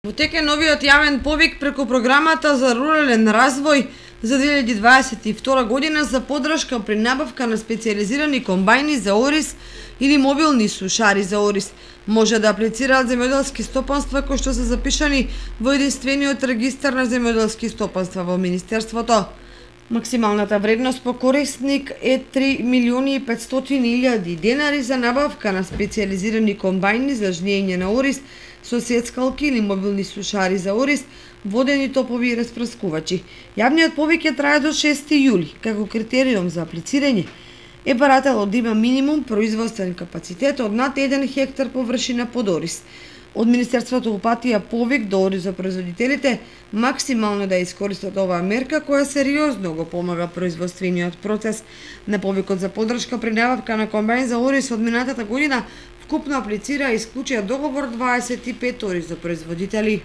Во тек е новиот јавен повик преку програмата за рурален развој за 2022 година за поддршка при набавка на специјализирани комбајни за ориз или мобилни сушари за ориз. Може да аплицираат земјоделски стопанства кои што се запишани во единствениот регистар на земјоделски стопанства во Министерството. Максималната вредност по корисник е 3.500.000 денари за набавка на специјализирани комбајни за жнење на ориз со сецкалки или мобилни сушари за ориз, водени топови и распрскувачи. Јавниот повик ќе трае до 6 јули. Како критериум за аплицирање е барателот да има минимум производствен капацитет од над 1 хектар површина под ориз. Од Министерството упатија повик до оризопроизводителите максимално да искористат оваа мерка која сериозно го помага производствениот процес. На повикот за поддршка при набавка на комбајн за ориз од минатата година вкупно аплицира и исклучија договор 25 оризопроизводители.